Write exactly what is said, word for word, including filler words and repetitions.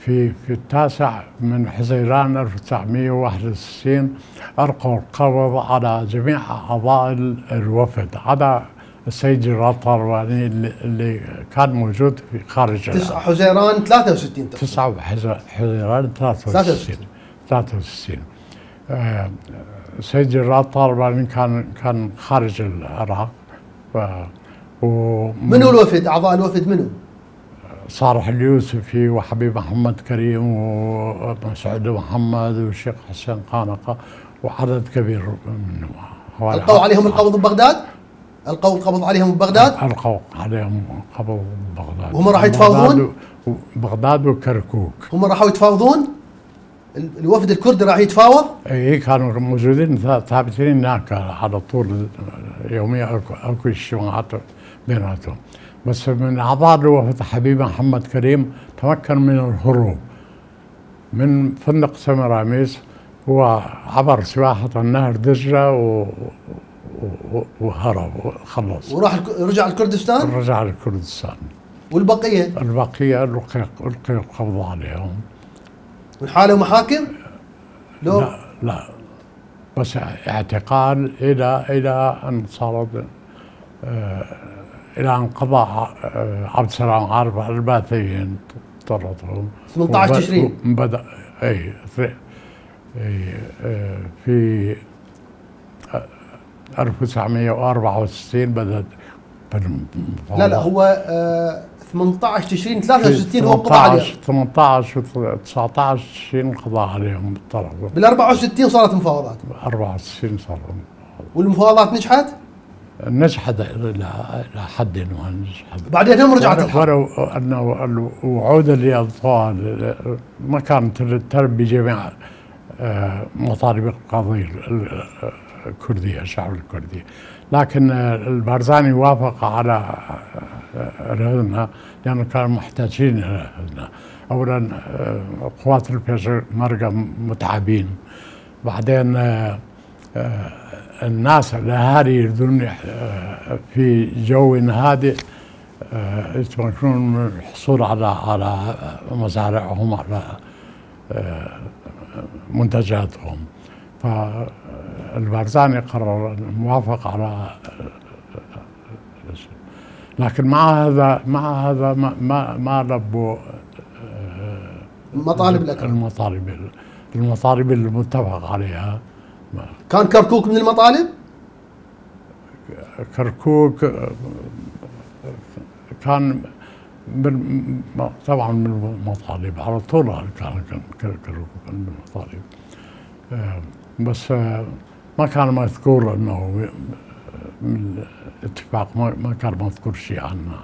في في التاسع من حزيران ألف وتسعمئة وواحد وستين ألقوا القبض على جميع أعضاء الوفد عدا السيد جلال طالباني اللي, اللي كان موجود في خارج تسعة حزيران ثلاثة وستين تسعة حزيران ثلاثة وستين ثلاثة وستين آه السيد جلال طالباني كان كان خارج العراق. منو الوفد؟ أعضاء الوفد منو؟ صالح اليوسفي وحبيب محمد كريم ومسعود محمد والشيخ حسين قانقة وعدد كبير منهم. ألقوا عليهم القبض ببغداد؟ ألقوا القبض عليهم ببغداد؟ ألقوا عليهم القبض ببغداد. وهم راحوا يتفاوضون؟ بغداد وكركوك. هم راحوا يتفاوضون؟ الوفد الكردي راح يتفاوض؟ اي كانوا موجودين ثابتين هناك على طول يوميا اكو اجتماعات بيناتهم. بس من اعضاء الوفد حبيب محمد كريم تمكن من الهروب من فندق سمراميس. هو عبر سباحة النهر دجلة و... و... وهرب وخلص. وراح رجع لكردستان؟ رجع لكردستان. والبقية؟ البقية ألقي القبض عليهم. والحالة محاكم؟ لو لا لا بس اعتقال إلى إلى أن صارت آه إلى أن قضى آه عبد السلام عارف على الباثيين طردهم. ثمانية عشر تشرين بدأ أي أي آه في ألف وتسعمئة وأربعة وستين بدأت. لا لا هو آه ثمانية عشر تشرين ثلاثة وستين هو قضى عليهم. ثمانية عشر وتسعة عشر تشرين قضى عليهم بالطرد. بال أربعة وستين صارت مفاوضات. أربعة وستين صارت. والمفاوضات نجحت؟ نجحت الى حد ما نجحت. بعدين هم رجعت الحرب. ولو انه الوعود اللي اضفوها ما كانت تلبي بجميع مطالب القضيه الكرديه الشعب الكردي، لكن البارزاني وافق على الهدنه لانه كانوا محتاجين الى الهدنه. اولا قوات البيشمركه متعبين، بعدين الناس الاهالي يريدون في جو هادئ يتمكنون من الحصول على على مزارعهم على منتجاتهم. فالبارزاني قرر الموافقة على، لكن مع هذا مع هذا ما ما لبوا مطالب الأكراد. المطالب المطالب المتفق عليها. كان كركوك من المطالب؟ كركوك كان من طبعا من المطالب على طول كان كركوك من المطالب، بس ما كان مذكور انه من الاتفاق، ما كان مذكور شيء عنه.